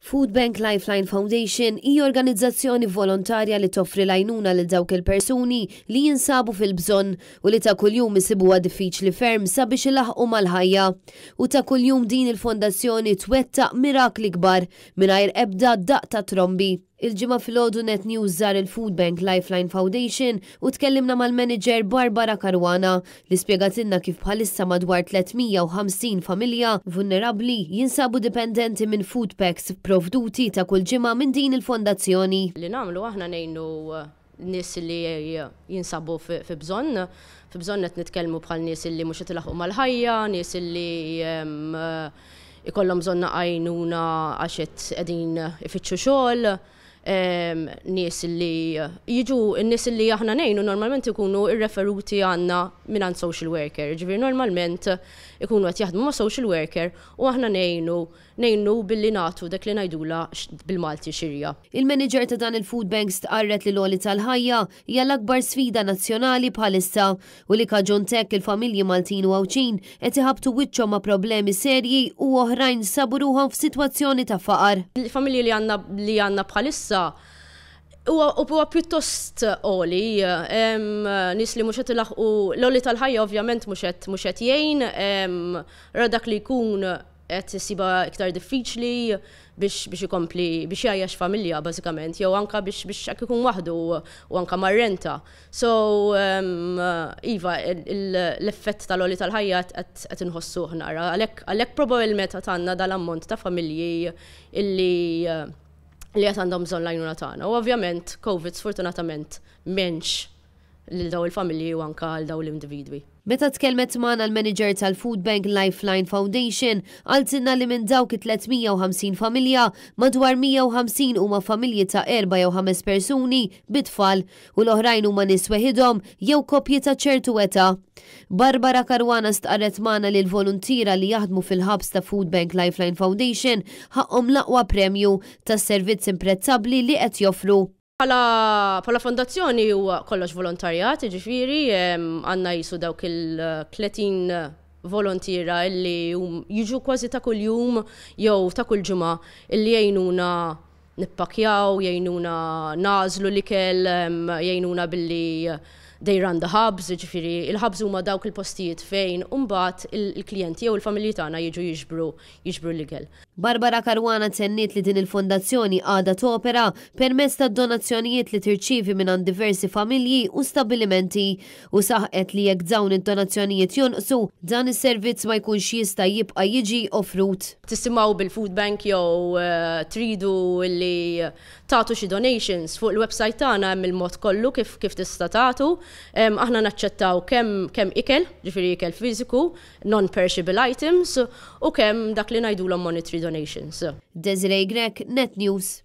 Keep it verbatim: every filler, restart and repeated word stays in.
Food Bank Lifeline Foundation hija organizzazzjoni volontarja li toffri l-għajnuna lil dawk il-persuni li jinsabu fil-bżonn u li ta' kuljum isibuha diffiċli ferm sabiex ilaħqu mal-ħajja. U ta' kuljum din il-fondazzjoni twettaq mirakli kbar mingħajr ebda daqq ta' trombi. Il-Ġimgħa filgħodu Net News żar il-Food Bank Lifeline Foundation u tkellimna mal-manager Barbara Caruana li spjegatilna kif bħalissa madwar tliet mija u ħamsin familja vulnerabbli jinsabu dipendenti minn food packs provduti ta' kull ġimgħa minn din il-fondazzjoni. Li nagħmlu aħna, ngħinu nies li jinsabu fi bżonn, fi bżonn qed nitkellmu bħal nies li mhux qed ilaħqu mal-ħajja, nies li ikollhom bżonn għajnuna għax qegħdin ifittxu xogħol, nies li jiġu, n-nies li aħna ngħinu normalment ikunu irreferuti għandna minn social worker. Ġifieri normalment ikunu qed jaħdmu ma' social worker u aħna ngħinu ngħinu billi nagħtu dak li ngħidula bil-Malti xirja. Il-manager ta' dan il-food bank stqarret li l-għoli tal-ħajja hija l-akbar sfida nazzjonali bħalissa u li kaġun t'hekk il-familji Maltin u Għawdxin qed iħabtu wiċċhom ma' problemi serji u oħrajn sabu ruħhom f'sitwazzjoni ta' faqar. Il-familji li għandna li għandna bħalissa huwa pjuttost għoli, nies li mhux qed ilaħqu, l-għoli tal-ħajja ovvjament mhux qed mhux qed jgħin, ra dak li jkun qed isibha iktar diffiċli biex biex ikompli biex jgħajjax familja bażikament, jew anka biex biex hekk ikun waħdu u anka mar-renta. So iva, l-effett tal-għoli tal-ħajja qed inħossuh nara. Għalhekk għalhekk probabbilment għandna dal-ammont ta' familji illi li qed għandhom bżonn l-għajnuna tagħna. U ovvjament Covid sfortunatament m'għenx lil daw il-familji u anka għal daw l-individwi. Meta tkellmet magħna l-manager tal-Food Bank Lifeline Foundation, qaltilna li minn dawk it-tliet mija u ħamsin familja, madwar mija u ħamsin huma familji ta' erba' jew ħames persuni bit-tfal u l-oħrajn huma nies weħidhom jew koppji ta' ċertu età. Barbara Caruana stqarret magħna li l-voluntiera li jaħdmu fil-hubs ta' Food Bank Lifeline Foundation ħaqhom l-aqwa premju tas-servizz imprezzabbli li qed joffru. Bħala fondazzjoni huwa kollox volontarjat, ġifieri għandna jisu dawk il-tletin volontiera illi jiġu kważi ta' kuljum jew ta' kull ġimgħa illi jgħinuna nippakjaw, jgħinuna nagħżlu l-ikel, jgħinuna billi they run the hubs, ġifieri il-hubs huma dawk il-postijiet fejn mbagħad il-klijenti jew il-familji tagħna jiġu jiġbru jiġbru l-ikel. Barbara Caruana tenniet li din il-fondazzjoni għadha topera permezz ta' donazzjonijiet li tirċivi minn diversi familji u stabilimenti u saħqet li jekk dawn id-donazzjonijiet jonqsu, dan is-servizz ma jkunx jista' jibqa' jiġi offrut. Tisimgħu bil-food bank jew eh, tridu li tagħtu xi donations, fuq il-website tagħna hemm il-mod kollu kif kif tista' tagħtu. Aħna naċċettaw kemm kemm ikel, ġifieri ikel fiżiku, non-perishable items, u kemm dak li ngħidulhom monetary donations. Desiree Grech, Net News.